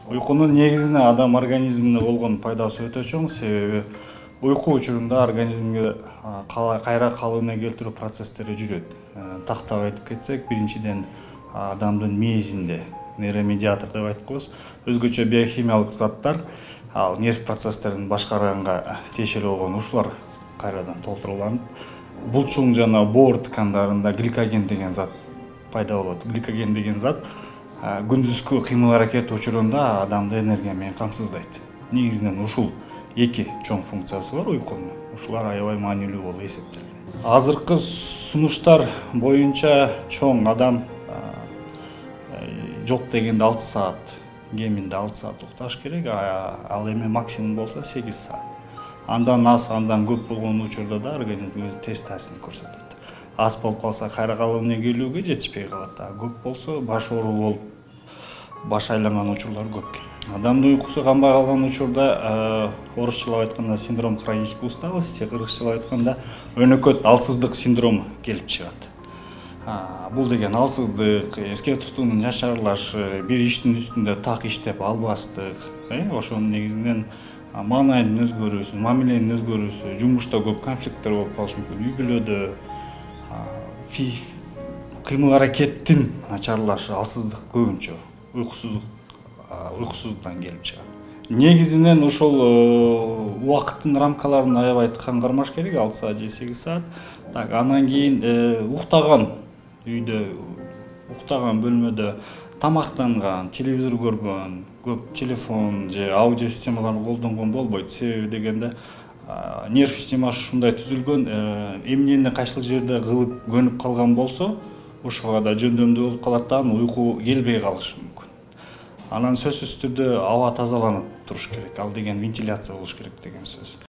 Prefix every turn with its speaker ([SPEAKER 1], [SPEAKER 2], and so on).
[SPEAKER 1] Уйкунун негизинен адам организмине болгон пайдасы өтө чоң, себеби уйку учурунда организмге кайра калыбына келтирүү процесстери жүрөт. Тактап айтып кетсек, биринчиден адамдын мээсинде нейромедиатор деп айтып коебуз, өзгөчө биохимиялык заттар, ал нерв процесстерин башкарганга тиешелүү болгон ушулар кайрадан толтуруланып, булчуң жана боор ткандарында гликоген деген зат пайда болот. Гликоген деген зат күндүзгү кыймыл аракет учурунда адамды энергия менен камсыздайт. Негизинен ушул эки чоң функциясы бар уйкунун. Ушулар аябай маанилүү болуп эсептелет. Азыркы сунуштар боюнча чоң адам жок дегенде 6 саат, кеминде 6 саат укташ керек, ал эми максимум болсо 8 саат. Андан аз, андан көп болгон учурда да организм өзү терс таасирин көрсөтөт. Аз болуп калса кайра калыбына келүүгө жетишпей калат. Көп болсо баш оору болуп, баш айланган учурлар көп. Адамдын уйкусу канбай калган учурда орусчалап айтканда синдром хронической усталости, кыргызчалап айтканда өнөкөт алсыздык синдрому келип чыгат. Бул деген алсыздык, эске тутуунун начарлашы, бир иштин үстүндө так иштеп албастык, ошонун негизинен маанайдын өзгөрүүсү, мамиленин өзгөрүүсү, жумушта көп конфликттер болуп калышы мүмкүн, үй бүлөдө кыймыл аракеттин начарлашы, алсыздык көбүнчө уйкусуздуктан келип чыгат. Негизинен ошол убакыттын рамкаларын аябай каңгармаш керек, 6 саат же 8 саат. Анан кийин уктаган үйдө, уктаган бөлмөдө тамактанган, телевизор көргөн, көп телефон же аудио системаларды колдонгон болбойт. Себеби дегенде нерв системасы ушундай түзүлгөн, эмнени кайсыл жерде кылып көнүп калган болсо, ошого да жөндөмдүү болуп калат да, уйку келбей калышы мүмкүн. Анан сөзсүз түрдө аба тазаланып туруш керек, ал деген вентиляция болуш керек деген сөз.